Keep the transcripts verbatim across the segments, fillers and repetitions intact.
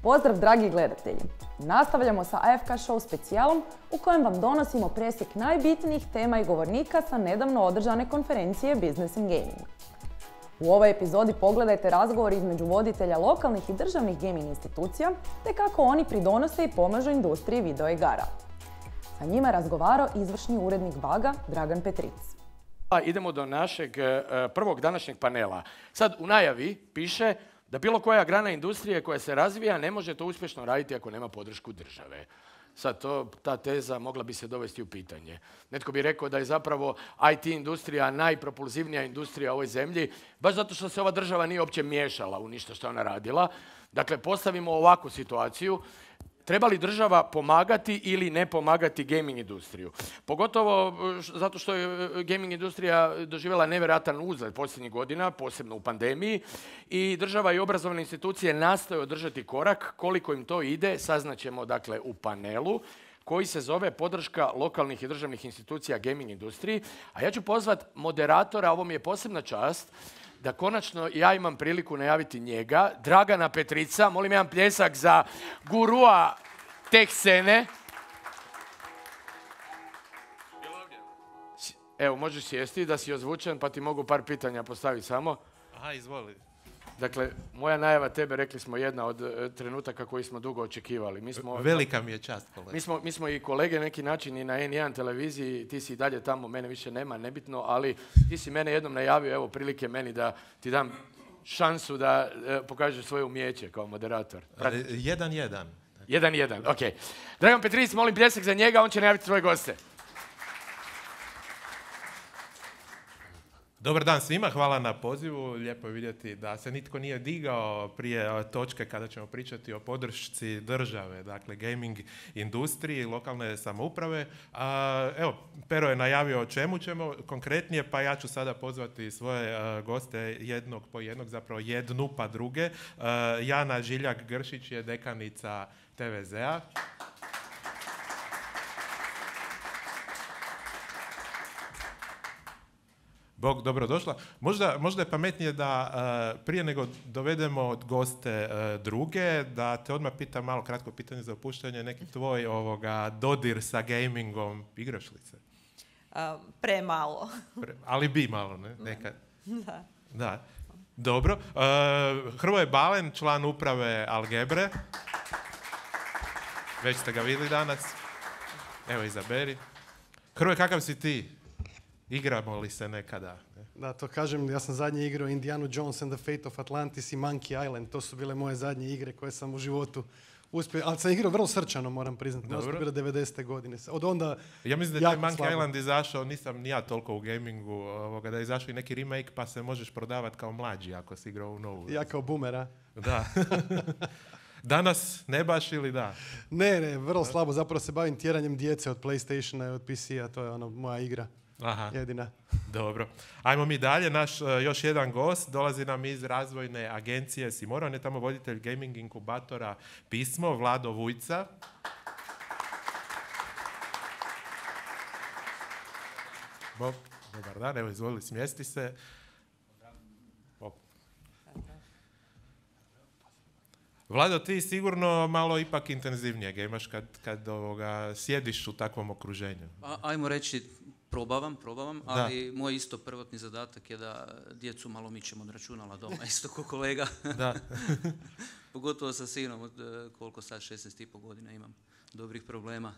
Pozdrav dragi gledatelji! Nastavljamo sa A F K Show specijalom u kojem vam donosimo presjek najbitnijih tema i govornika sa nedavno održane konferencije Business and Gaming. U ovoj epizodi pogledajte razgovor između voditelja lokalnih i državnih gaming institucija te kako oni pridonose i pomažu industriji videoigara. Sa njima je razgovarao izvršni urednik Baga Dragan Petric. Idemo do našeg prvog današnjeg panela. Sad u najavi piše da bilo koja grana industrije koja se razvija ne može to uspješno raditi ako nema podršku države. Sad to, ta teza mogla bi se dovesti u pitanje. Netko bi rekao da je zapravo I T industrija najpropulzivnija industrija u ovoj zemlji, baš zato što se ova država nije uopće miješala u ništa što je ona radila. Dakle, postavimo ovakvu situaciju. Treba li država pomagati ili ne pomagati gaming industriju? Pogotovo zato što je gaming industrija doživjela nevjerojatan uzlet posljednjih godina, posebno u pandemiji, i država i obrazovne institucije nastoje održati korak. Koliko im to ide, saznaćemo dakle u panelu koji se zove Podrška lokalnih i državnih institucija gaming industriji. A ja ću pozvati moderatora, ovo mi je posebna čast, da konačno ja imam priliku najaviti njega, Dragana Petrica. Molim jedan pljesak za gurua teh scene. Evo, možeš sjesti da si ozvučen, pa ti mogu par pitanja postaviti samo. Aha, izvoli. Dakle, moja najava tebe, rekli smo, jedna od uh, trenutaka koji smo dugo očekivali. Mi smo, Velika mi je čast, kolega. Mi smo, mi smo i kolege neki način i na N jedan televiziji, ti si i dalje tamo, mene više nema, nebitno, ali ti si mene jednom najavio, evo prilike meni da ti dam šansu da uh, pokažeš svoje umijeće kao moderator. Prati. Jedan, jedan. Jedan, jedan, ok. Dragan Petric, molim pljesak za njega, on će najaviti svoje goste. Dobar dan svima, hvala na pozivu. Lijepo je vidjeti da se nitko nije digao prije točke kada ćemo pričati o podršci države, dakle gaming industriji, lokalne samouprave. A, evo, Pero je najavio o čemu ćemo konkretnije, pa ja ću sada pozvati svoje a, goste jednog po jednog, zapravo jednu pa druge. A, Jana Žiljak-Gršić je dekanica T V Z-a. Bog, dobrodošla. Možda, možda je pametnije da uh, prije nego dovedemo goste uh, druge, da te odmah pitam malo kratko pitanje za opuštanje, neki tvoj ovoga, dodir sa gamingom, igraš li se? Uh, premalo. Pre, ali bi malo, ne? Nekad. Da. Da. Dobro. Uh, Hrvoje Balen, član uprave Algebre. Već ste ga vidjeli danas. Evo, izaberi. Hrvoje, kakav si ti? Igramo li se nekada? Da, to kažem, ja sam zadnje igrao Indiana Jones and the Fate of Atlantis i Monkey Island. To su bile moje zadnje igre koje sam u životu uspio. Ali sam igrao vrlo srčano, moram priznati. To su bile devedesete godine. Od onda ja mislim da je Monkey slabo. Island izašao, nisam ni ja toliko u gamingu, ovoga, da je izašao i neki remake pa se možeš prodavati kao mlađi ako si igrao u novu. Ja kao boomera. Da. Danas ne baš ili da? Ne, ne, vrlo slabo. Zapravo se bavim tjeranjem djece od PlayStationa i od P C-a. To je ono moja igra. Aha. Jedina. Dobro. Ajmo mi dalje. Naš uh, još jedan gost dolazi nam iz razvojne agencije Simora. On je tamo voditelj gaming inkubatora Pismo, Vlado Vujca. Bog, dobar dan. Evo, izvoli, smjesti se. Bog. Vlado, ti sigurno malo ipak intenzivnije gejmaš kad, kad ovoga, sjediš u takvom okruženju. A, ajmo reći, probavam, probavam, ali da. Moj isto prvotni zadatak je da djecu malo mičem od računala doma, isto ko kolega. Da. Pogotovo sa sinom, od koliko sad, šesnaest i pol godina imam dobrih problema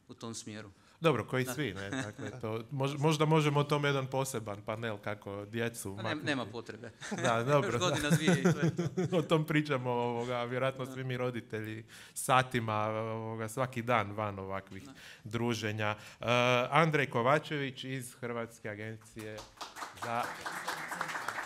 u tom smjeru. Dobro, koji da. Svi, ne? Dakle, to, mož, možda možemo o tome jedan poseban panel kako djecu... Ne, nema potrebe. Da, dobro. Još godina zvije i to je to. O tom pričamo, ovoga, vjerojatno svi mi roditelji satima, ovoga, svaki dan van ovakvih da. druženja. Uh, Andrej Kovačević iz Hrvatske agencije za...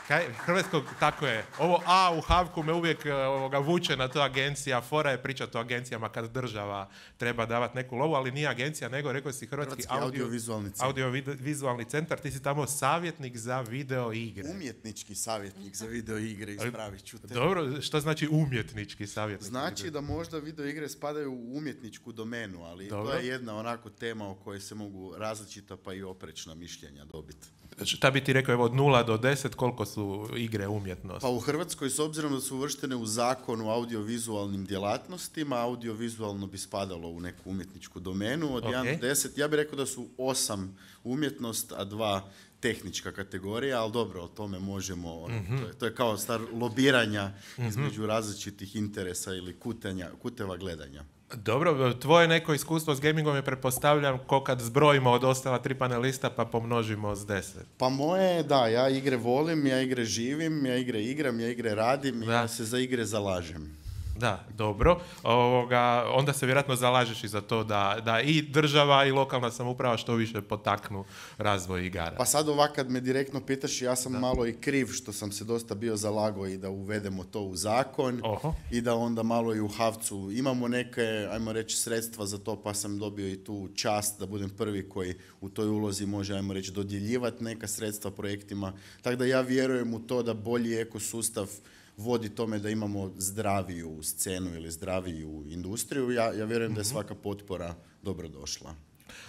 Kaj, hrvatskog, tako je. Ovo A u Havku me uvijek ovoga, vuče na to agencija. Fora je pričati o agencijama kad država treba davati neku lovu, ali nije agencija, nego rekao si Hrvatski, Hrvatski audio, audiovizualni centar. Audiovizualni centar. Ti si tamo savjetnik za video igre. Umjetnički savjetnik za video igre, ispravit ću te. Dobro, što znači umjetnički savjetnik? Znači da možda video igre spadaju u umjetničku domenu, ali dobro. To je jedna onako tema o kojoj se mogu različita pa i oprečna mišljenja dobiti. šta bi ti rekao, evo od nula do deset, koliko su igre umjetnosti? Pa u Hrvatskoj, s obzirom da su uvrštene u zakon o audiovizualnim djelatnostima, audiovizualno bi spadalo u neku umjetničku domenu. Od okay. jedan do deset, ja bih rekao da su osam umjetnost, a dva tehnička kategorija, ali dobro, o tome možemo, ono, mm-hmm. to, je, to je kao star lobiranja mm-hmm. između različitih interesa ili kutenja, kuteva gledanja. Dobro, tvoje neko iskustvo s gamingom je, pretpostavljam, ko kad zbrojimo od ostala tri panelista pa pomnožimo s deset. Pa moje, da, ja igre volim, ja igre živim, ja igre igram, ja igre radim, da. Ja se za igre zalažem. Da, dobro. Ovoga, onda se vjerojatno zalažeš i za to da, da i država i lokalna samouprava što više potaknu razvoj igara. Pa sad ovak kad me direktno pitaš, ja sam da. malo i kriv što sam se dosta bio zalagao i da uvedemo to u zakon. Oho. I da onda malo i u HAVC-u imamo neke, ajmo reći, sredstva za to, pa sam dobio i tu čast da budem prvi koji u toj ulozi može, ajmo reći, dodjeljivati neka sredstva projektima. Tako da ja vjerujem u to da bolji ekosustav vodi tome da imamo zdraviju scenu ili zdraviju industriju. Ja, ja vjerujem mm-hmm. da je svaka potpora dobro došla.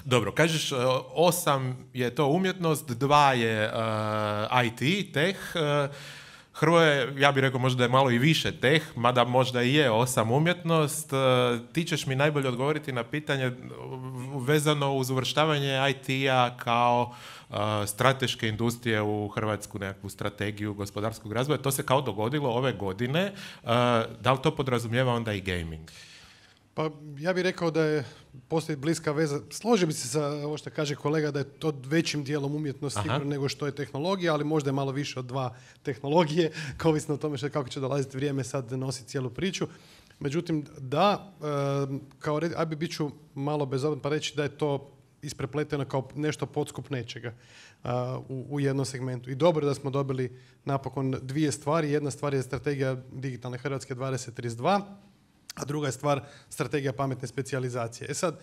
Dobro, kažeš osam je to umjetnost, dva je uh, I T, tech. Uh, Hrvoje, ja bih rekao možda je malo i više teh, mada možda i je osam umjetnost. Ti ćeš mi najbolje odgovoriti na pitanje vezano uz uvrštavanje I T-a kao uh, strateške industrije u hrvatsku nekakvu strategiju gospodarskog razvoja. To se kao dogodilo ove godine. Uh, da li to podrazumijeva onda i gaming? Pa ja bih rekao da je postoji bliska veza. Složio bi se sa ovo što kaže kolega da je to većim dijelom umjetnost nego što je tehnologija, ali možda je malo više od dva tehnologije, ovisno o tome što, kako će dolaziti vrijeme sad nositi cijelu priču. Međutim, da, kao red, aj bi bit ću malo bezobradan pa reći da je to isprepleteno kao nešto podskup nečega uh, u, u jednom segmentu. I dobro da smo dobili napokon dvije stvari. Jedna stvar je strategija digitalne Hrvatske dvadeset trideset dva, a druga je stvar strategija pametne specijalizacije. E sad,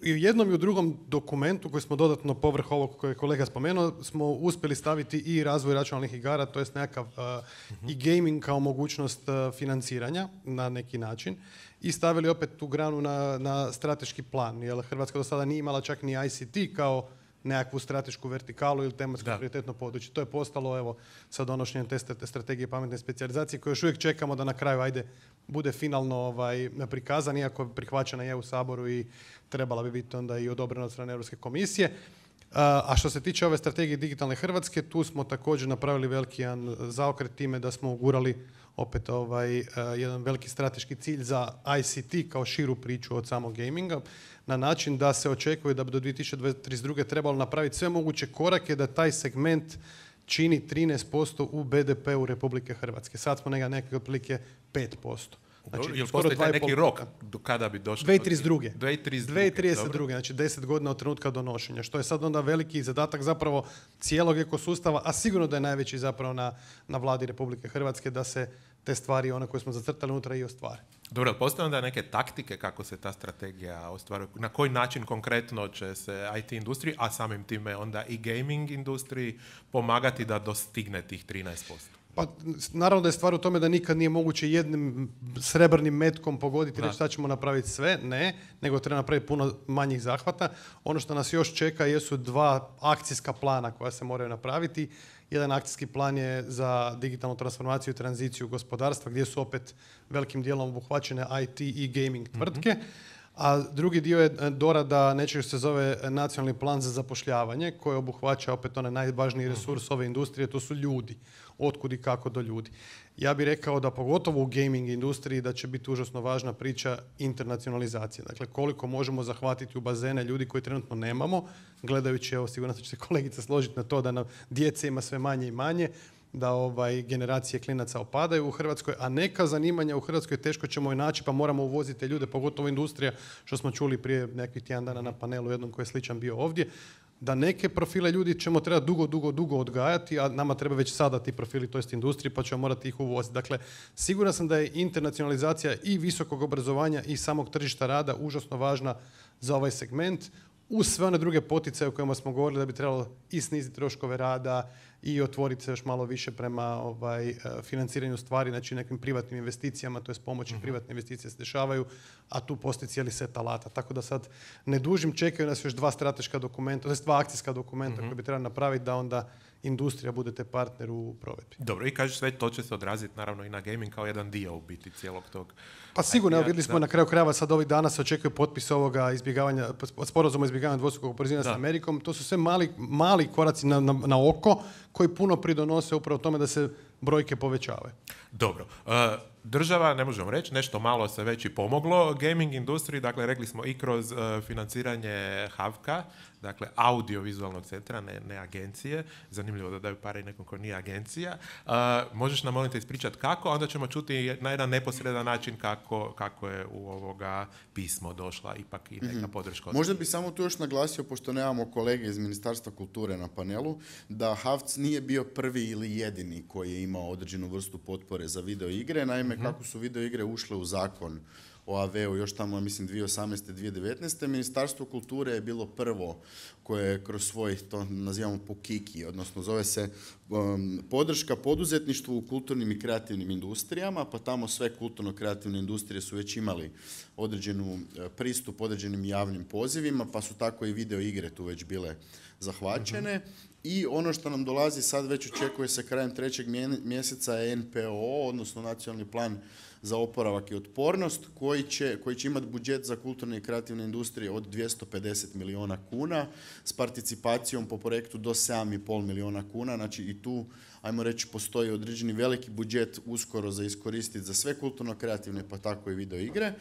i u jednom i u drugom dokumentu koji smo dodatno povrh ovog koje je kolega spomenuo, smo uspjeli staviti i razvoj računalnih igara, to jest nekakav uh, uh-huh. i gaming kao mogućnost uh, financiranja na neki način i stavili opet tu granu na, na strateški plan. Jer Hrvatska do sada nije imala čak ni I C T kao nekakvu stratešku vertikalu ili tematsko prioritetno područje. To je postalo evo sa donošenjem te strategije pametne specijalizacije koje još uvijek čekamo da na kraju ajde bude finalno ovaj, prikazan, iako je prihvaćena je u Saboru i trebala bi biti onda i odobrena od strane Europske komisije. A što se tiče ove strategije digitalne Hrvatske, tu smo također napravili veliki jedan zaokret time da smo ugurali opet ovaj, jedan veliki strateški cilj za I C T kao širu priču od samog gaminga, na način da se očekuje da bi do dvije tisuće trideset druge trebalo napraviti sve moguće korake da taj segment čini trinaest posto u B D P-u Republike Hrvatske. Sad smo nekako nekak otprilike pet posto. Znači, jel postoji taj neki rok do kada bi došlo? dvije tisuće trideset druge. dvije tisuće trideset druge, znači deset godina od trenutka donošenja, što je sad onda veliki zadatak zapravo cijelog ekosustava, a sigurno da je najveći zapravo na, na vladi Republike Hrvatske da se te stvari, one koje smo zacrtali unutra i ostvare. Dobro, postoje onda neke taktike kako se ta strategija ostvaruje? Na koji način konkretno će se I T industriji, a samim time onda i gaming industriji pomagati da dostigne tih trinaest posto? Pa, naravno da je stvar u tome da nikad nije moguće jednim srebrnim metkom pogoditi reći šta ćemo napraviti sve, ne, nego treba napraviti puno manjih zahvata. Ono što nas još čeka jesu dva akcijska plana koja se moraju napraviti. Jedan akcijski plan je za digitalnu transformaciju i tranziciju gospodarstva, gdje su opet velikim dijelom obuhvaćene I T i gaming tvrtke. Mm-hmm. A drugi dio je dorada nečeg što se zove nacionalni plan za zapošljavanje, koji obuhvaća opet onaj najvažniji resurs ove industrije, to su ljudi. Otkud i kako do ljudi. Ja bih rekao da pogotovo u gaming industriji da će biti užasno važna priča internacionalizacije. Dakle, koliko možemo zahvatiti u bazene ljudi koji trenutno nemamo, gledajući, evo sigurno će se kolegica složiti na to da nam djece ima sve manje i manje, da ovaj, generacije klinaca opadaju u Hrvatskoj, a neka zanimanja u Hrvatskoj teško ćemo i naći, pa moramo uvoziti ljude, pogotovo industrija, što smo čuli prije nekih tjedan dana na panelu jednom koji je sličan bio ovdje, da neke profile ljudi ćemo trebati dugo, dugo, dugo odgajati, a nama treba već sada ti profili, to jest industriji, pa ćemo morati ih uvoziti. Dakle, siguran sam da je internacionalizacija i visokog obrazovanja i samog tržišta rada užasno važna za ovaj segment. uz sve one druge poticaje o kojima smo govorili da bi trebalo i sniziti troškove rada i otvoriti se još malo više prema ovaj, financiranju stvari, znači nekim privatnim investicijama, to je pomoći uh-huh. privatne investicije se dešavaju, a tu postoji cijeli set alata. Tako da sad ne dužim, čekaju nas još dva strateška dokumenta, to je dva akcijska dokumenta uh-huh. koje bi trebali napraviti da onda industrija budete partner u provedbi. Dobro, i kažeš sve to će se odraziti naravno i na gaming kao jedan dio u biti cijelog tog. Pa sigurno, evo vidjeli smo da. Na kraju krajeva sad ovih dana se očekuje potpis ovoga izbjegavanja, sporazuma izbjegavanja dvostrukog oporezivanja s Amerikom. To su sve mali, mali koraci na, na, na oko koji puno pridonose upravo tome da se brojke povećavaju. Dobro. Uh, država, ne možemo reći, nešto malo se već i pomoglo gaming industriji, dakle rekli smo i kroz uh, financiranje Havka, dakle audiovizualnog centra, ne, ne agencije. Zanimljivo da daju pare i nekom ko nije agencija. Uh, možeš nam molim te ispričati kako, onda ćemo čuti na jedan neposredan način kako, kako je u ovoga pismo došla ipak i neka mm-hmm. podrška. Možda bi samo tu još naglasio, pošto nemamo kolege iz Ministarstva kulture na panelu, da Havc nije bio prvi ili jedini koji je imao određenu vrstu potpore za video igre. Naime, mm-hmm. kako su video igre ušle u zakon o A V U još tamo, mislim, dvije tisuće osamnaeste. dvije tisuće devetnaeste. Ministarstvo kulture je bilo prvo koje je kroz svoj, to nazivamo PUKIKI, odnosno zove se um, podrška poduzetništvu u kulturnim i kreativnim industrijama, pa tamo sve kulturno-kreativne industrije su već imali određenu uh, pristup određenim javnim pozivima, pa su tako i video igre tu već bile zahvaćene. Mm-hmm. I ono što nam dolazi sad već očekuje se krajem trećeg mjeseca je N P O, odnosno Nacionalni plan za oporavak i otpornost, koji će, koji će imati budžet za kulturne i kreativne industrije od dvjesto pedeset milijuna kuna s participacijom po projektu do sedam i pol milijuna kuna. Znači i tu, ajmo reći, postoji određeni veliki budžet uskoro za iskoristiti za sve kulturno-kreativne, pa tako i video igre.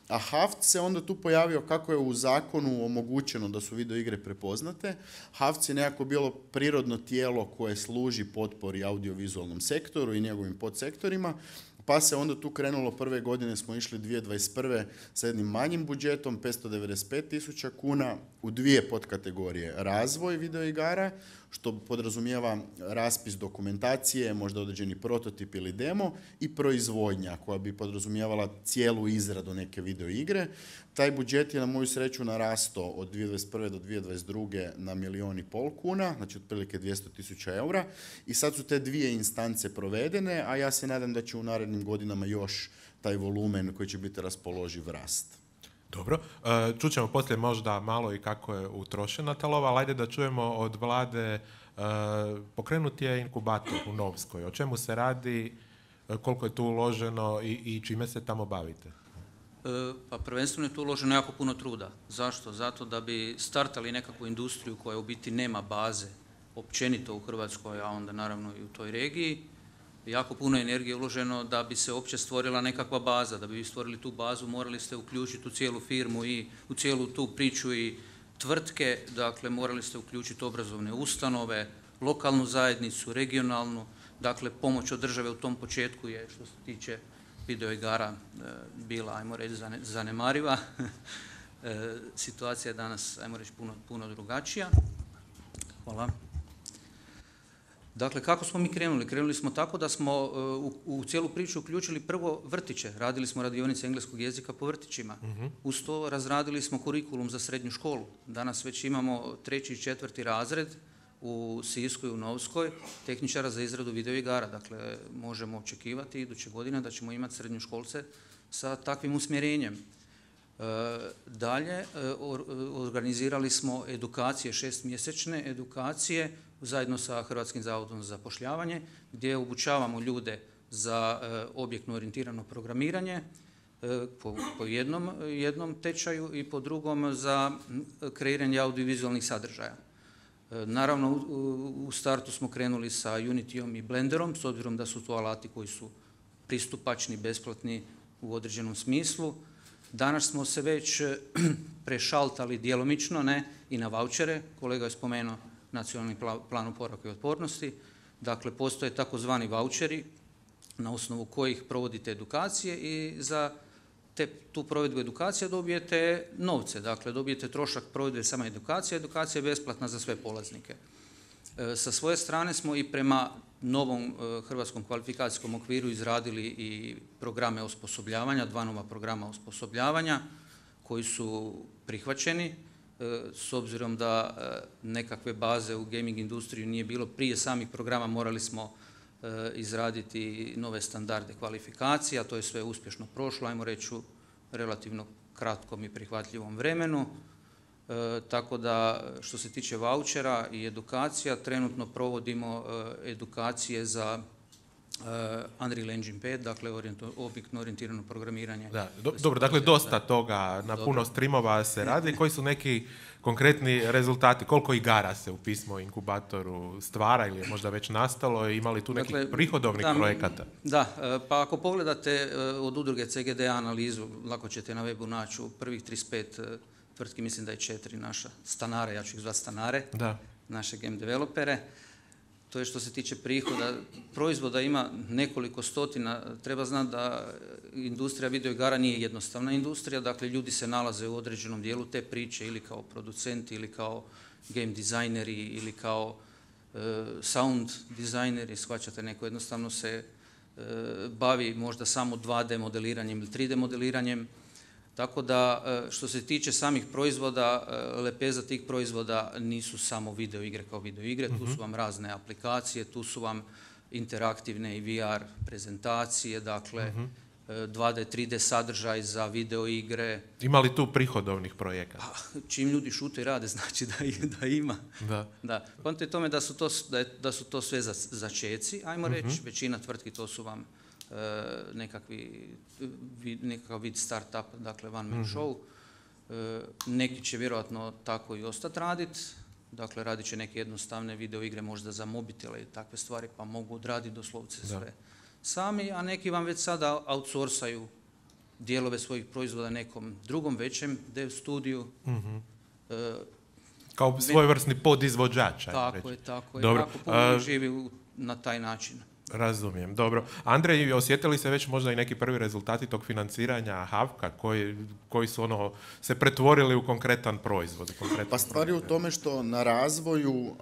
A Havc se onda tu pojavio kako je u zakonu omogućeno da su video igre prepoznate. Havc je nekako bilo prirodno tijelo koje služi potpori audiovizualnom sektoru i njegovim podsektorima, pa se onda tu krenulo, prve godine smo išli dvije tisuće dvadeset prve sa jednim manjim budžetom, petsto devedeset pet tisuća kuna, u dvije podkategorije. Razvoj videoigara, što podrazumijeva raspis dokumentacije, možda određeni prototip ili demo, i proizvodnja koja bi podrazumijevala cijelu izradu neke videoigre. Taj budžet je na moju sreću narastao od dvije tisuće dvadeset prve do dvije tisuće dvadeset druge na milijun i pol kuna, znači otprilike dvjesto tisuća eura. I sad su te dvije instance provedene, a ja se nadam da će u narednim godinama još taj volumen koji će biti raspoloživ rast. Dobro, čućemo poslije možda malo i kako je utrošena ta lova, ali ajde da čujemo od Vlade, pokrenut je inkubator u Novskoj. O čemu se radi, koliko je tu uloženo i, i čime se tamo bavite? Pa prvenstveno je tu uloženo jako puno truda. Zašto? Zato da bi startali nekakvu industriju koja u biti nema baze općenito u Hrvatskoj, a onda naravno i u toj regiji. Jako puno energije uloženo da bi se uopće stvorila nekakva baza. Da bi stvorili tu bazu morali ste uključiti u cijelu firmu i u cijelu tu priču i tvrtke, dakle morali ste uključiti obrazovne ustanove, lokalnu zajednicu, regionalnu, dakle pomoć od države u tom početku je što se tiče videoigara bila, ajmo reći, zanemariva. Situacija je danas, ajmo reći, puno, puno drugačija. Hvala. Dakle, kako smo mi krenuli? Krenuli smo tako da smo u, u cijelu priču uključili prvo vrtiće. Radili smo radionice engleskog jezika po vrtićima. Uh-huh. Uz to razradili smo kurikulum za srednju školu. Danas već imamo treći i četvrti razred u Sisku i u Novskoj tehničara za izradu videoigara. Dakle, možemo očekivati iduće godine da ćemo imati srednjoškolce sa takvim usmjerenjem. E, dalje, e, or, organizirali smo edukacije, šestmjesečne edukacije zajedno sa Hrvatskim zavodom za zapošljavanje, gdje obučavamo ljude za e, objektno orijentirano programiranje e, po, po jednom, jednom tečaju i po drugom za kreiranje audiovizualnih sadržaja. E, naravno, u, u startu smo krenuli sa Unityom i Blenderom, s obzirom da su to alati koji su pristupačni, besplatni u određenom smislu. Danas smo se već prešaltali djelomično, ne, i na vaučere. Kolega je spomenuo Nacionalni plan oporavka i otpornosti. Dakle, postoje takozvani vaučeri na osnovu kojih provodite edukacije i za te, tu provedbu edukacije dobijete novce. Dakle, dobijete trošak provedbe sama edukacije, edukacija je besplatna za sve polaznike. E, sa svoje strane smo i prema novom e, hrvatskom kvalifikacijskom okviru izradili i programe osposobljavanja, dva nova programa osposobljavanja koji su prihvaćeni. s obzirom da nekakve baze u gaming industriji nije bilo prije samih programa, morali smo izraditi nove standarde kvalifikacija, to je sve uspješno prošlo, ajmo reći u relativno kratkom i prihvatljivom vremenu. E, tako da što se tiče vaučera i edukacija, trenutno provodimo e, edukacije za e, Unreal Engine pet, dakle objektno orijentirano programiranje. Da, do, dobro, dakle dosta toga na dobro. Puno streamova se radi. Koji su neki konkretni rezultati? Koliko igara se u Pismo inkubatoru stvara ili je možda već nastalo? Ima li tu nekih dakle, prihodovnih da, projekata? Da, pa ako pogledate od udruge C G D analizu, lako ćete na webu naći u prvih trideset pet tvrtki, mislim da je četiri naša stanare, ja ću ih zvati stanare, da. Naše game developere. To je što se tiče prihoda. Proizvoda ima nekoliko stotina. Treba znati da industrija videoigara nije jednostavna industrija, dakle ljudi se nalaze u određenom dijelu te priče ili kao producenti, ili kao game dizajneri, ili kao e, sound dizajneri, shvaćate, neko jednostavno se e, bavi možda samo dva D modeliranjem ili tri D modeliranjem. Tako da, što se tiče samih proizvoda, lepeza tih proizvoda nisu samo video igre kao video igre, tu su vam razne aplikacije, tu su vam interaktivne i V R prezentacije, dakle dva D, tri D sadržaj za video igre. Ima li tu prihodovnih projekata? Čim ljudi šute i rade, znači da, da ima. Da. Da. Poanta je tome da su to, da je, da su to sve za, začeci, ajmo uh-huh. reći, većina tvrtki to su vam E, nekakvi, vid, nekakav vid start-up, dakle one man mm-hmm. show. E, neki će vjerojatno tako i ostati raditi, dakle radit će neke jednostavne video igre možda za mobitele i takve stvari, pa mogu odraditi doslovce sve da. Sami, a neki vam već sada outsourcaju dijelove svojih proizvoda nekom drugom većem dev studiju. Mm-hmm. E, Kao svojevrsni podizvođač. Tako je, tako je. Dobro. Jako puno uh, živi u, na taj način. Razumijem, dobro. Andrej, osjetili se već možda i neki prvi rezultati tog financiranja Havka koji, koji su ono se pretvorili u konkretan proizvod? Konkretan pa stvar je u tome što na razvoju uh,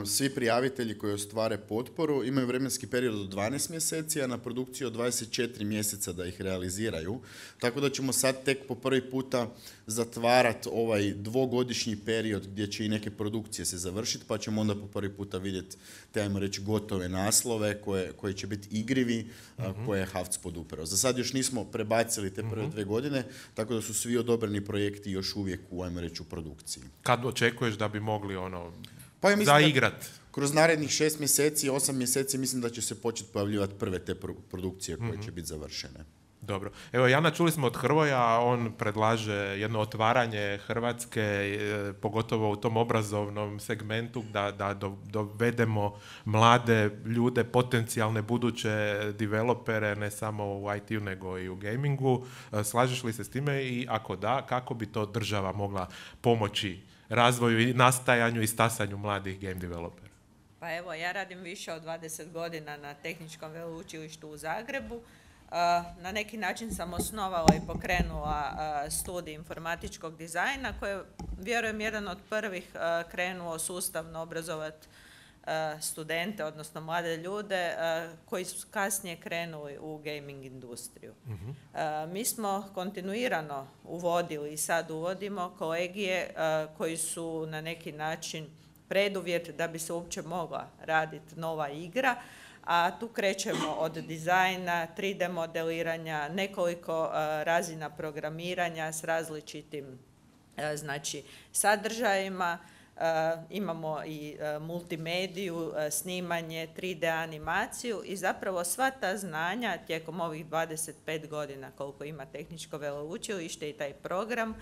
svi prijavitelji koji ostvare potporu imaju vremenski period od dvanaest mjeseci, a na produkciju od dvadeset četiri mjeseca da ih realiziraju. Tako da ćemo sad tek po prvi puta zatvarati ovaj dvogodišnji period gdje će i neke produkcije se završiti, pa ćemo onda po prvi puta vidjeti te, ajmo reći, gotove naslove koje, koje će biti igrivi, uh-huh. koje je Havc podupirao. Za sad još nismo prebacili te prve uh-huh. dve godine, tako da su svi odobreni projekti još uvijek u, ajmo reći, u produkciji. Kad očekuješ da bi mogli ono pa ja zaigrat? Kroz narednih šest mjeseci, osam mjeseci mislim da će se početi pojavljivati prve te produkcije koje uh-huh. će biti završene. Dobro. Evo, Jana, čuli smo od Hrvoja, on predlaže jedno otvaranje Hrvatske, e, pogotovo u tom obrazovnom segmentu, da, da do, dovedemo mlade ljude, potencijalne buduće developere, ne samo u I T-u, nego i u gamingu. E, slažeš li se s time i ako da, kako bi to država mogla pomoći razvoju i nastajanju i stasanju mladih game developera? Pa evo, ja radim više od dvadeset godina na Tehničkom veleučilištu u Zagrebu. Na neki način sam osnovala i pokrenula studij informatičkog dizajna koji je, vjerujem, jedan od prvih krenuo sustavno obrazovati studente, odnosno mlade ljude koji su kasnije krenuli u gaming industriju. Uh-huh. Mi smo kontinuirano uvodili i sad uvodimo kolegije koji su na neki način preduvjet da bi se uopće mogla raditi nova igra. A tu krećemo od dizajna, tri D modeliranja, nekoliko uh, razina programiranja s različitim uh, znači, sadržajima. Uh, imamo i uh, multimediju, uh, snimanje, tri D animaciju i zapravo sva ta znanja tijekom ovih dvadeset pet godina koliko ima Tehničko veleučilište i taj program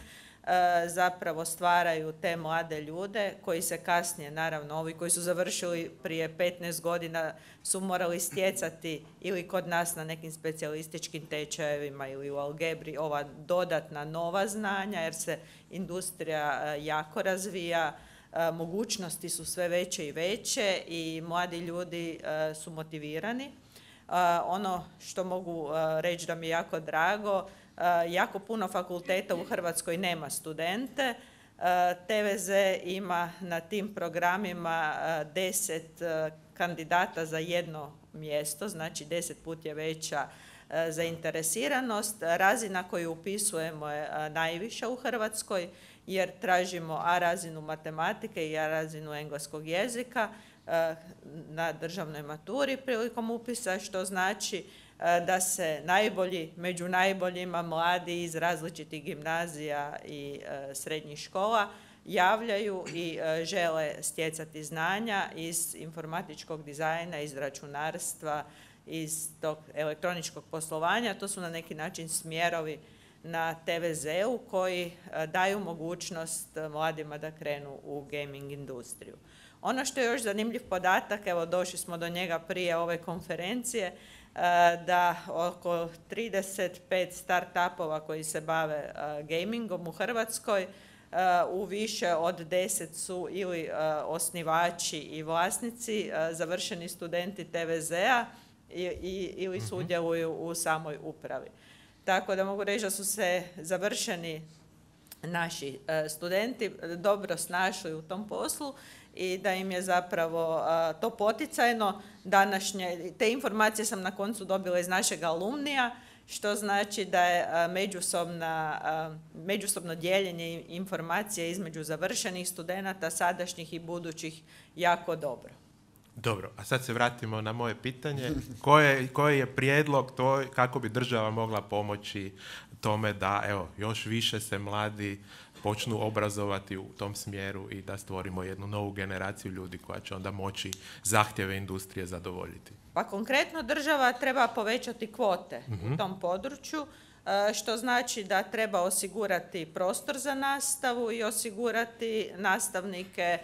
zapravo stvaraju te mlade ljude koji se kasnije, naravno ovi koji su završili prije petnaest godina su morali stjecati ili kod nas na nekim specijalističkim tečajevima ili u algebri ova dodatna nova znanja jer se industrija jako razvija, mogućnosti su sve veće i veće i mladi ljudi su motivirani. Ono što mogu reći da mi je jako drago, Uh, jako puno fakulteta u Hrvatskoj nema studente. Uh, T V Z ima na tim programima uh, deset uh, kandidata za jedno mjesto, znači deset put je veća uh, zainteresiranost. Razina koju upisujemo je uh, najviša u Hrvatskoj jer tražimo A razinu matematike i A razinu engleskog jezika na državnoj maturi prilikom upisa, što znači da se najbolji, među najboljima mladi iz različitih gimnazija i srednjih škola javljaju i žele stjecati znanja iz informatičkog dizajna, iz računarstva, iz tog elektroničkog poslovanja. To su na neki način smjerovi na te ve zeu koji daju mogućnost mladima da krenu u gaming industriju. Ono što je još zanimljiv podatak, evo došli smo do njega prije ove konferencije, da oko trideset pet start-upova koji se bave gamingom u Hrvatskoj, u više od deset su ili osnivači i vlasnici, završeni studenti te ve zea ili sudjeluju u samoj upravi. Tako da mogu reći da su se završeni naši studenti dobro snašli u tom poslu i da im je zapravo to poticajno. Današnje, te informacije sam na koncu dobila iz našeg alumnija, što znači da je međusobna, međusobno dijeljenje informacije između završenih studenata, sadašnjih i budućih, jako dobro. Dobro, a sad se vratimo na moje pitanje. Koje, koji je prijedlog to, kako bi država mogla pomoći tome da evo, još više se mladi počnu obrazovati u tom smjeru i da stvorimo jednu novu generaciju ljudi koja će onda moći zahtjeve industrije zadovoljiti? Pa konkretno država treba povećati kvote mm-hmm. u tom području, što znači da treba osigurati prostor za nastavu i osigurati nastavnike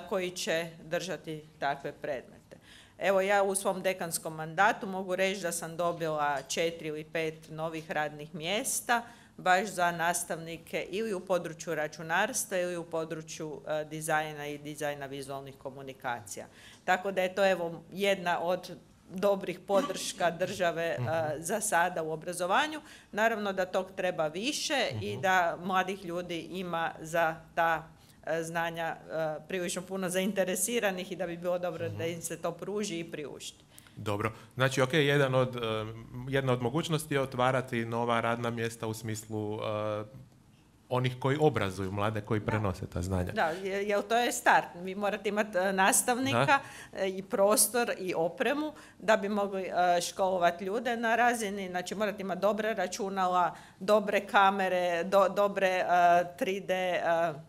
koji će držati takve predmete. Evo ja u svom dekanskom mandatu mogu reći da sam dobila četiri ili pet novih radnih mjesta baš za nastavnike ili u području računarstva ili u području dizajna i dizajna vizualnih komunikacija. Tako da je to evo jedna od dobrih podrška države uh, za sada u obrazovanju. Naravno da tog treba više uh-huh. i da mladih ljudi ima za ta uh, znanja uh, prilično puno zainteresiranih i da bi bilo dobro uh-huh. da im se to pruži i priušti. Dobro. Znači, ok, jedan od, uh, jedna od mogućnosti je otvarati nova radna mjesta u smislu uh, onih koji obrazuju mlade, koji prenose ta znanja. Da, jer to je start. Vi morate imati nastavnika da. i prostor i opremu da bi mogli školovati ljude na razini. Znači morate imati dobre računala, dobre kamere, do, dobre uh, tri de uh,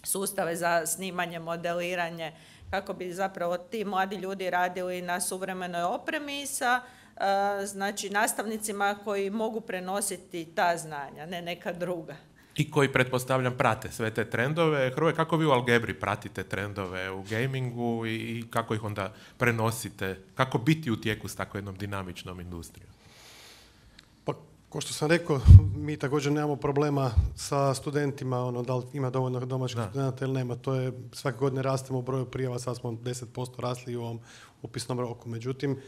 sustave za snimanje, modeliranje, kako bi zapravo ti mladi ljudi radili na suvremenoj opremi sa uh, znači nastavnicima koji mogu prenositi ta znanja, ne neka druga. I koji, pretpostavljam, prate sve te trendove. Hrvoje, kako vi u Algebri pratite trendove u gamingu i, i kako ih onda prenosite? Kako biti u tijeku s tako jednom dinamičnom industrijom? Pa, ko što sam rekao, mi također nemamo problema sa studentima, ono, da li ima dovoljno domaćih studenta ili nema. To je, svake godine rastemo u broju prijava, sad smo deset posto rasli u ovom upisnom roku. Međutim,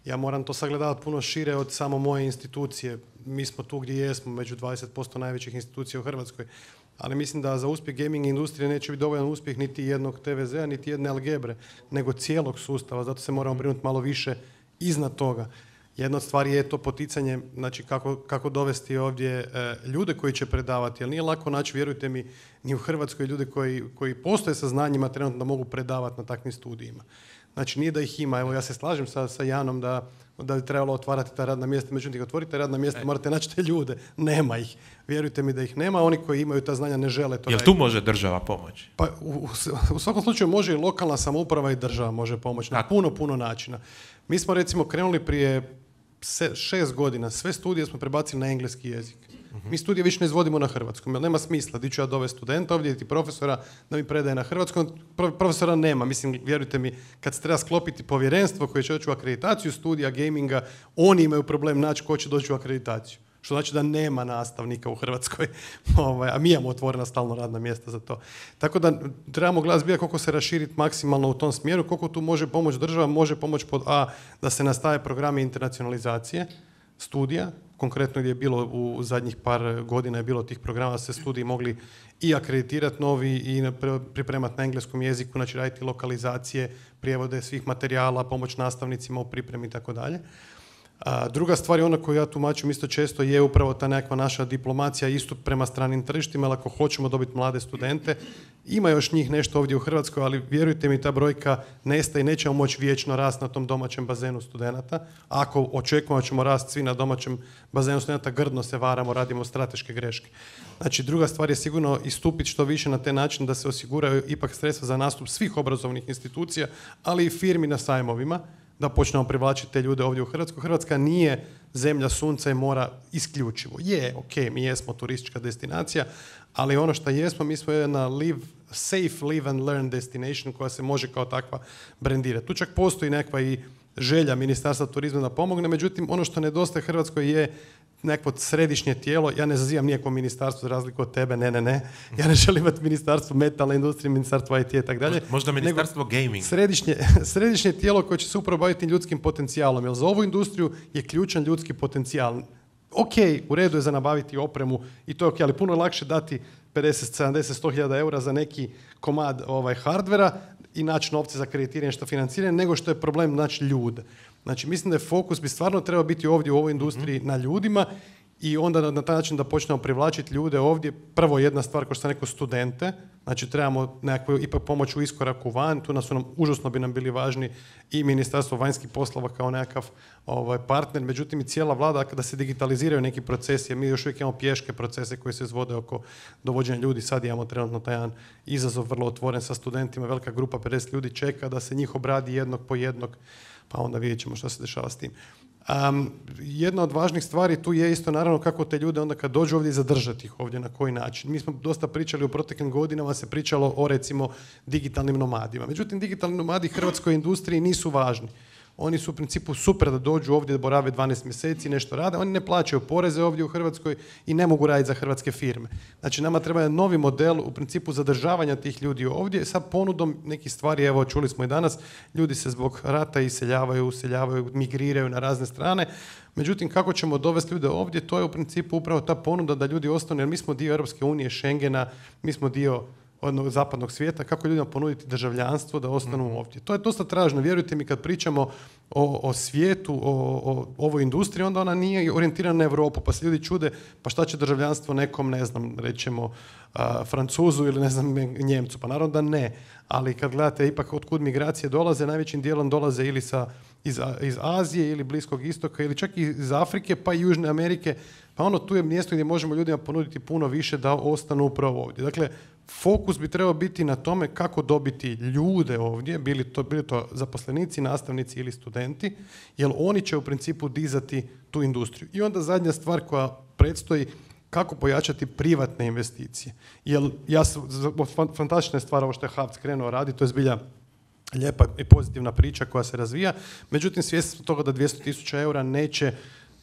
ja moram to sagledavati puno šire od samo moje institucije. Mi smo tu gdje jesmo, među dvadeset posto najvećih institucija u Hrvatskoj. Ali mislim da za uspjeh gaming industrije neće biti dovoljan uspjeh niti jednog te ve zea, niti jedne Algebre, nego cijelog sustava. Zato se moramo brinuti malo više iznad toga. Jedna od stvari je to poticanje, znači kako, kako dovesti ovdje e, ljude koji će predavati. Jer nije lako naći, vjerujte mi, ni u Hrvatskoj ljude koji, koji postoje sa znanjima trenutno da mogu predavati na takvim studijima. Znači nije da ih ima, evo ja se slažem sa, sa Janom da, da bi trebalo otvarati ta radna mjesta, međutim otvorite radna mjesta, e. morate naći te ljude, nema ih. Vjerujte mi da ih nema, oni koji imaju ta znanja ne žele to. Jel tu može država pomoći? Pa u, u svakom slučaju može i lokalna samouprava i država može pomoći na puno, puno načina. Mi smo recimo krenuli prije se, šest godina, sve studije smo prebacili na engleski jezik. Mi studije više ne izvodimo na hrvatskom, jer nema smisla. Di ću ja dovesti studenta ovdje, ti profesora da mi predaje na hrvatskom. Profesora nema. Mislim, vjerujte mi, kad se treba sklopiti povjerenstvo koje će doći u akreditaciju studija gaminga, oni imaju problem naći ko će doći u akreditaciju. Što znači da nema nastavnika u Hrvatskoj, a mi imamo otvorena stalno radna mjesta za to. Tako da trebamo gledati zbilja koliko se raširiti maksimalno u tom smjeru, koliko tu može pomoći država, može pomoći pod A da se nastave programi internacionalizacije studija, konkretno gdje je bilo u zadnjih par godina je bilo tih programa da se studiji mogli i akreditirati novi i pripremati na engleskom jeziku, znači raditi lokalizacije, prijevode svih materijala, pomoć nastavnicima u pripremi i tako dalje. A druga stvar je ona koju ja tumačim isto često je upravo ta nekakva naša diplomacija isto prema stranim tržištima, ali ako hoćemo dobiti mlade studente, ima još njih nešto ovdje u Hrvatskoj, ali vjerujte mi, ta brojka nestaje i nećemo moći vječno rasti na tom domaćem bazenu studenata. Ako očekujemo da ćemo rasti svi na domaćem bazenu studenata, grdno se varamo, radimo strateške greške. Znači, druga stvar je sigurno istupiti što više na taj način da se osiguraju ipak sredstva za nastup svih obrazovnih institucija, ali i firmi na sajmovima, da počnemo privlačiti te ljude ovdje u Hrvatsku. Hrvatska nije zemlja sunca i mora isključivo. Je, ok, mi jesmo turistička destinacija, ali ono što jesmo, mi smo jedna live, safe live and learn destination koja se može kao takva brendirati. Tu čak postoji nekakva i želja Ministarstva turizma da pomogne, međutim, ono što nedostaje Hrvatskoj je nekako središnje tijelo. Ja ne zazivam nijako ministarstvo za razliku od tebe, ne, ne, ne. Ja ne želim imati ministarstvo metalne industrije, ministarstvo I T i tako dalje. Možda ministarstvo gaming. Središnje, središnje tijelo koje će se upravo baviti ljudskim potencijalom, jer za ovu industriju je ključan ljudski potencijal. Ok, u redu je za nabaviti opremu i to je ok, ali puno je lakše dati pedeset, sedamdeset, sto hiljada eura za neki komad ovaj, hardvera i naći novce za kreditiranje što financiranje, nego što je problem naći ljude. Znači, mislim da je fokus bi stvarno trebao biti ovdje u ovoj industriji mm-hmm. na ljudima i onda na, na taj način da počnemo privlačiti ljude ovdje. Prvo jedna stvar, kao što sam rekao, studente. Znači, trebamo nekakvu ipak pomoć u iskoraku van. Tu nas su nam, užasno bi nam bili važni i Ministarstvo vanjskih poslova kao nekakav ovaj, partner. Međutim, i cijela vlada, kada se digitaliziraju neki procesi, mi još uvijek imamo pješke procese koji se izvode oko dovođenja ljudi. Sad imamo trenutno taj jedan izazov vrlo otvoren sa studentima. Velika grupa, pedeset ljudi čeka da se njih obradi jednog po jednog, pa onda vidjet ćemo što se dešava s tim. Um, jedna od važnih stvari tu je isto naravno kako te ljude onda kad dođu ovdje zadržati ih ovdje, na koji način. Mi smo dosta pričali u proteklim godinama, se pričalo o recimo digitalnim nomadima. Međutim, digitalni nomadi hrvatskoj industriji nisu važni. Oni su u principu super da dođu ovdje, da borave dvanaest mjeseci, nešto rade. Oni ne plaćaju poreze ovdje u Hrvatskoj i ne mogu raditi za hrvatske firme. Znači, nama treba novi model u principu zadržavanja tih ljudi ovdje sa ponudom nekih stvari. Evo, čuli smo i danas, ljudi se zbog rata iseljavaju, useljavaju, migriraju na razne strane. Međutim, kako ćemo dovesti ljude ovdje, to je u principu upravo ta ponuda da ljudi ostanu, jer mi smo dio Europske unije, Schengena, mi smo dio od zapadnog svijeta, kako ljudima ponuditi državljanstvo da ostanu mm. ovdje. To je dosta tražno. Vjerujte mi, kad pričamo o, o svijetu, o, o ovoj industriji, onda ona nije orijentirana na Europu, pa se ljudi čude, pa šta će državljanstvo nekom, ne znam, rećemo, a, Francuzu ili ne znam, Njemcu. Pa naravno da ne. Ali kad gledate ipak otkud migracije dolaze, najvećim dijelom dolaze ili sa, iz, iz Azije ili Bliskog istoka ili čak i iz Afrike, pa i Južne Amerike. Pa ono, tu je mjesto gdje možemo ljudima ponuditi puno više da ostanu upravo ovdje. Dakle, fokus bi trebao biti na tome kako dobiti ljude ovdje, bili to, bili to zaposlenici, nastavnici ili studenti, jer oni će u principu dizati tu industriju. I onda zadnja stvar koja predstoji, kako pojačati privatne investicije. Jer ja sam, fantastična je stvar ovo što je Havc krenuo raditi, to je zbilja lijepa i pozitivna priča koja se razvija, međutim svjesni smo toga da dvjesto tisuća eura neće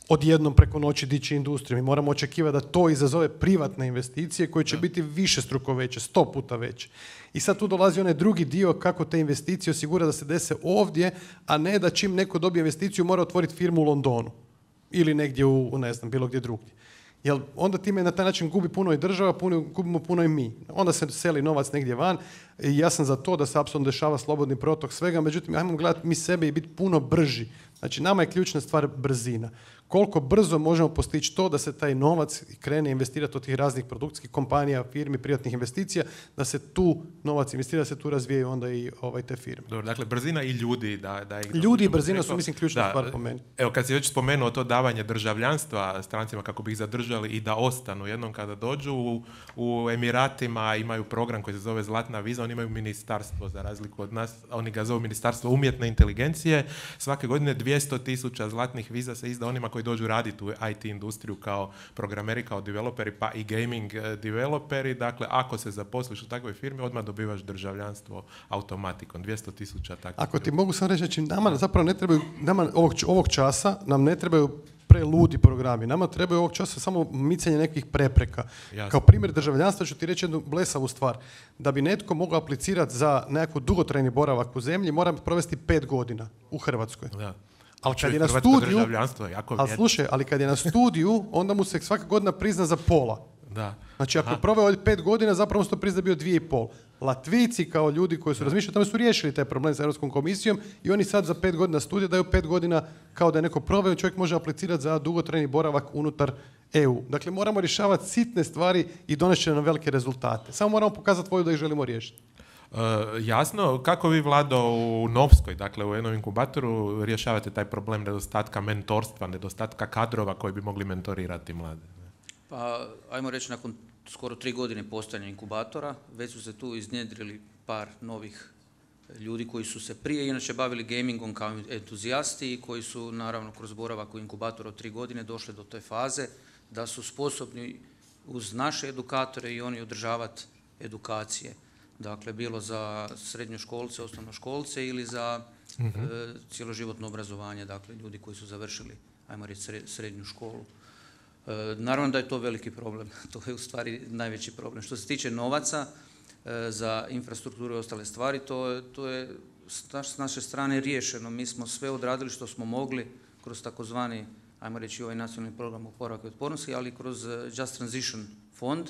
odjednom preko noći dići industriju. Mi moramo očekivati da to izazove privatne investicije koje će da. biti višestruko veće, sto puta veće. I sad tu dolazi onaj drugi dio kako te investicije osigura da se dese ovdje, a ne da čim neko dobije investiciju mora otvoriti firmu u Londonu ili negdje u, ne znam, bilo gdje drugdje. Jer onda time na taj način gubi puno i država, puno, gubimo puno i mi. Onda se seli novac negdje van i ja sam za to da se apsolutno dešava slobodni protok svega, međutim, ajmo gledati mi sebe i biti puno brži. Znači, nama je ključna stvar brzina. Koliko brzo možemo postići to da se taj novac krene investirati od tih raznih produkcijskih kompanija, firmi, privatnih investicija, da se tu novac investira, da se tu razvijaju onda i ovaj, te firme. Dobro, dakle, brzina i ljudi. Da, da ih ljudi i brzina su, mislim, ključna da, stvar po meni. Evo, kad si već spomenuo to davanje državljanstva strancima kako bi ih zadržali i da ostanu jednom kada dođu, u, u Emiratima imaju program koji se zove Zlatna viza, oni imaju ministarstvo za razliku od nas, oni ga zovu Ministarstvo umjetne inteligencije. Svake godine dvjesto tisuća zlatnih viza se izda onima koji dođu raditi u I T industriju kao programeri, kao developeri, pa i gaming developeri. Dakle, ako se zaposliš u takvoj firmi, odmah dobivaš državljanstvo automatikom. dvjesto tisuća takvih. Ako ti mogu sam reći, znači nama zapravo ne trebaju, nama ovog, ovog časa nam ne trebaju preludi programi. Nama trebaju ovog časa samo micanje nekih prepreka. Jasne. Kao primjer državljanstva ću ti reći jednu blesavu stvar. Da bi netko mogao aplicirati za nekako dugotrajni boravak u zemlji, mora provesti pet godina u Hrvatskoj. Da. Ali kad je na studiju, ali slušaj, ali kad je na studiju, onda mu se svaka godina prizna za pola. Da. Znači, ako proveo ovdje pet godina, zapravo se to prizna bio dvije i pol. Latvijci kao ljudi koji su razmišljali, tamo su riješili taj problem sa Europskom komisijom i oni sad za pet godina studija daju pet godina kao da je neko proveo, čovjek može aplicirati za dugotrajni boravak unutar E U. Dakle, moramo rješavati sitne stvari i donesti nam velike rezultate. Samo moramo pokazati volju da ih želimo riješiti. Uh, jasno, kako vi, Vlado, u Novskoj, dakle u jednom inkubatoru, rješavate taj problem nedostatka mentorstva, nedostatka kadrova koji bi mogli mentorirati mlade? Pa, ajmo reći, nakon skoro tri godine postojanja inkubatora, već su se tu iznjedrili par novih ljudi koji su se prije inače bavili gamingom kao entuzijasti i koji su, naravno, kroz boravak u inkubatoru od tri godine došli do te faze da su sposobni uz naše edukatore i oni održavati edukacije. Dakle, bilo za srednjoškolce, osnovnoškolce ili za mm-hmm. e, cjeloživotno obrazovanje, dakle, ljudi koji su završili, ajmo reći, srednju školu. E, naravno da je to veliki problem, to je u stvari najveći problem. Što se tiče novaca e, za infrastrukturu i ostale stvari, to, to je s naše strane riješeno. Mi smo sve odradili što smo mogli kroz takozvani, ajmo reći, ovaj nacionalni program oporavka i otpornosti, ali kroz Just Transition fond,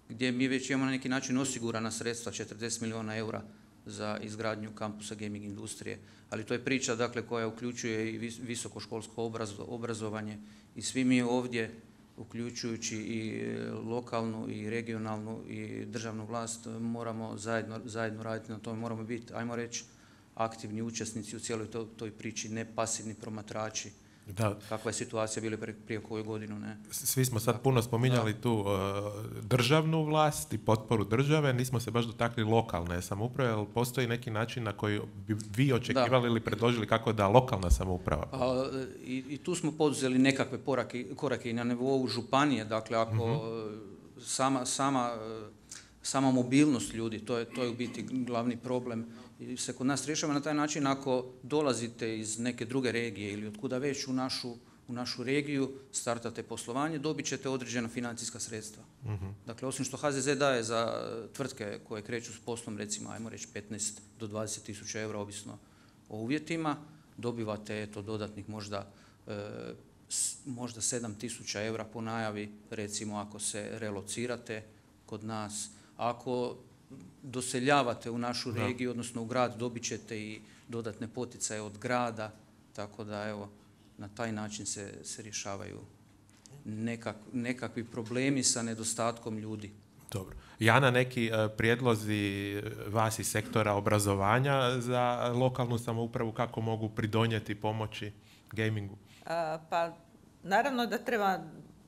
gdje mi već imamo na neki način osigurana sredstva, četrdeset milijuna eura za izgradnju kampusa gaming industrije. Ali to je priča, dakle, koja uključuje i visokoškolsko obrazovanje i svi mi ovdje, uključujući i lokalnu i regionalnu i državnu vlast, moramo zajedno, zajedno raditi na tome, moramo biti, ajmo reći, aktivni učesnici u cijeloj to, toj priči, ne pasivni promatrači. Da. Kakva je situacija bila prije, prije koju godinu, ne? Svi smo sad puno spominjali da. tu uh, državnu vlast i potporu države, nismo se baš dotakli lokalne samouprave, ali postoji neki način na koji bi vi očekivali da. ili predložili kako da lokalna samouprava? A, i, I tu smo poduzeli nekakve porake, korake i na nivou županije, dakle ako mm-hmm. sama, sama, sama mobilnost ljudi, to je, to je u biti glavni problem. I se kod nas rješava na taj način ako dolazite iz neke druge regije ili od kuda već u našu, u našu regiju, startate poslovanje, dobit ćete određena financijska sredstva. Mm-hmm. Dakle, osim što H Z Z daje za tvrtke koje kreću s poslom, recimo, ajmo reći petnaest do dvadeset tisuća eura, ovisno o uvjetima, dobivate eto, dodatnih možda, e, s, možda sedam tisuća eura po najavi, recimo ako se relocirate kod nas. Ako doseljavate u našu da. regiju, odnosno u grad, dobit ćete i dodatne poticaje od grada, tako da evo, na taj način se, se rješavaju nekak, nekakvi problemi sa nedostatkom ljudi. Dobro. Jana, neki uh, prijedlozi vas iz sektora obrazovanja za lokalnu samoupravu, kako mogu pridonijeti pomoći gamingu? A, pa, naravno da treba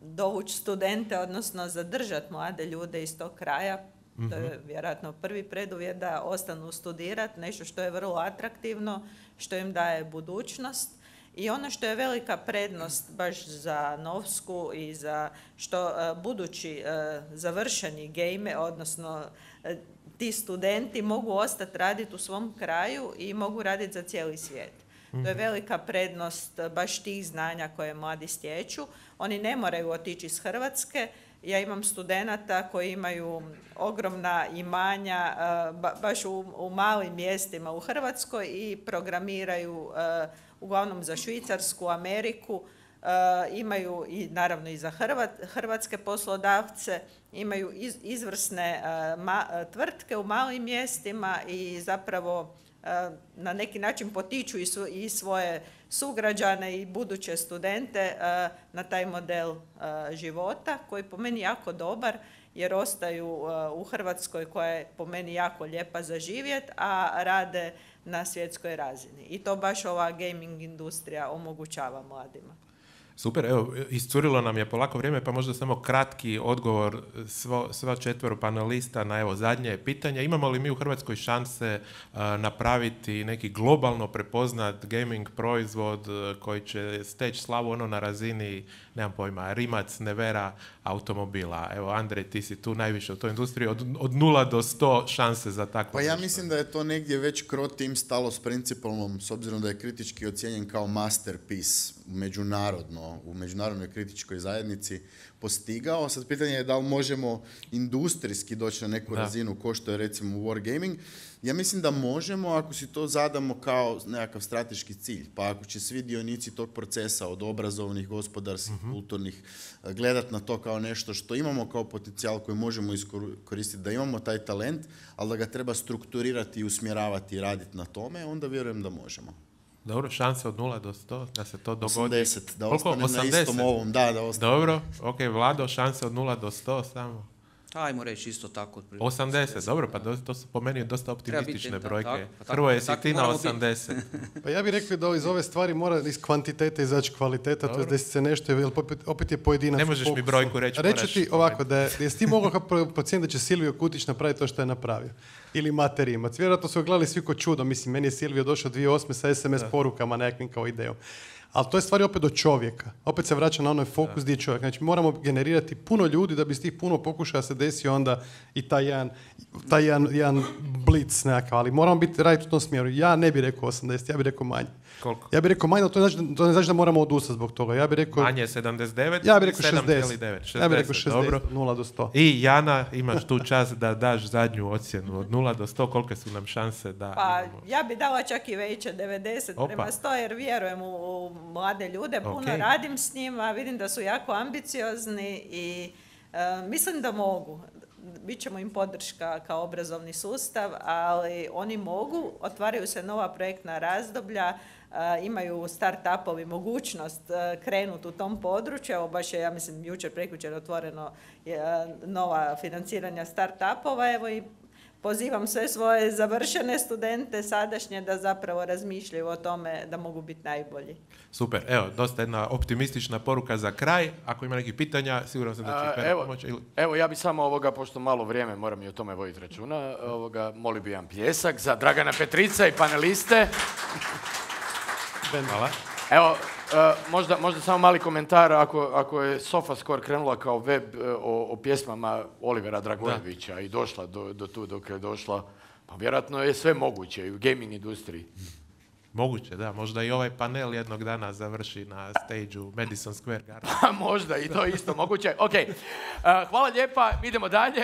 dovući studente, odnosno zadržati mlade ljude iz tog kraja. To je vjerojatno prvi preduvjet da ostanu studirati, nešto što je vrlo atraktivno, što im daje budućnost. I ono što je velika prednost baš za Novsku i za što uh, budući uh, završeni game, odnosno uh, ti studenti mogu ostati raditi u svom kraju i mogu raditi za cijeli svijet. Mm-hmm. To je velika prednost baš tih znanja koje mladi stječu. Oni ne moraju otići iz Hrvatske. Ja imam studenata koji imaju ogromna imanja ba, baš u, u malim mjestima u Hrvatskoj i programiraju uh, uglavnom za Švicarsku, Ameriku, uh, imaju i naravno i za Hrvat, hrvatske poslodavce, imaju iz, izvrsne uh, ma, tvrtke u malim mjestima i zapravo uh, na neki način potiču i, su, i svoje sugrađane i buduće studente uh, na taj model uh, života koji je po meni jako dobar jer ostaju uh, u Hrvatskoj koja je po meni jako lijepa za živjet, a rade na svjetskoj razini. I to baš ova gaming industrija omogućava mladima. Super, evo, iscurilo nam je polako vrijeme, pa možda samo kratki odgovor svo, sva četvero panelista na evo zadnje pitanje. Imamo li mi u Hrvatskoj šanse uh, napraviti neki globalno prepoznat gaming proizvod uh, koji će steći slavu ono na razini, nemam pojma, Rimac, Nevera, automobila? Evo, Andrej, ti si tu najviše u toj industriji, od, od nula do sto šanse za takvo. Pa ja nešto. Mislim da je to negdje već Croteam stalo s principalnom, s obzirom da je kritički ocijenjen kao masterpiece međunarodno. ono, u međunarodnoj kritičkoj zajednici postigao. Sad pitanje je da li možemo industrijski doći na neku da. razinu ko što je recimo Wargaming. Ja mislim da možemo ako si to zadamo kao nekakav strateški cilj. Pa ako će svi dionici tog procesa od obrazovnih, gospodarskih, mm-hmm. kulturnih gledati na to kao nešto što imamo kao potencijal koji možemo iskoristiti, da imamo taj talent, ali da ga treba strukturirati i usmjeravati i raditi na tome, onda vjerujem da možemo. Dobro, šanse od nula do sto, da se to dogodi. osamdeset, da Koliko? ostane osamdeset? Na istom ovom. Da, da ostane. Dobro, ok, Vlado, šanse od nula do sto samo. Ajmo reći isto tako. osamdeset, dobro, pa to su po meni dosta optimistične brojke. Tak, pa Hrvoje, si ti na osamdeset. Pa ja bih rekao da iz ove stvari mora iz kvantitete izaći kvaliteta, to je da se nešto, jer opet, opet je pojedinac. Ne možeš mi brojku reći. Reći ti ovako, da je, jesi ti mogao procijeniti da će Silvio Kutić napraviti to što je napravio? Ili Mate Rimac. Vjerojatno su gledali svi ko čudo. Mislim, meni je Silvio došao dvije tisuće osme sa es em es da. porukama nekakvim kao idejom. Ali to je stvari opet do čovjeka. Opet se vraća na onaj fokus gdje je čovjek. Znači moramo generirati puno ljudi da bi s tih puno pokušaja se desio onda i taj jedan, taj jedan, jedan blic nekakav. Ali moramo biti raditi u tom smjeru. Ja ne bih rekao osamdeset, ja bih rekao manje. Koliko? Ja bih rekao manje, ali to ne znači, to ne znači da moramo odustati zbog toga. Ja bih rekao... Manje je sedamdeset devet, ja bih rekao sedam zarez šezdeset. devet. Ja bih rekao šezdeset, nula do sto. I Jana, imaš tu čas da daš zadnju ocjenu od nula do sto. Kolike su nam šanse da... Pa imamo... ja bih dala čak i veće, devedeset Opa. prema sto, jer vjerujem u, u mlade ljude, puno okay. radim s njima, vidim da su jako ambiciozni i uh, mislim da mogu. Bićemo im podrška kao obrazovni sustav, ali oni mogu, otvaraju se nova projektna razdoblja, uh, imaju start-upovi mogućnost uh, krenuti u tom području. Evo baš je, ja mislim, jučer, prekjučer otvoreno uh, nova financiranja start-upova, evo i pozivam sve svoje završene studente sadašnje da zapravo razmišljaju o tome da mogu biti najbolji. Super, evo, dosta jedna optimistična poruka za kraj. Ako ima nekih pitanja, siguran sam da će evo, pomoći. Ili... Evo, ja bi samo ovoga, pošto malo vrijeme, moram i o tome voditi računa, ovoga, molio bi jedan pljesak za Dragana Petrica i paneliste. Hvala. Evo, uh, možda, možda samo mali komentar, ako, ako je SofaScore krenula kao web uh, o, o pjesmama Olivera Dragojevića da. i došla do, do tu dok je došla, pa vjerojatno je sve moguće i u gaming industriji. Moguće, da. Možda i ovaj panel jednog dana završi na stage-u Madison Square Garden. Pa možda i to isto moguće. Ok, uh, hvala lijepa, idemo dalje.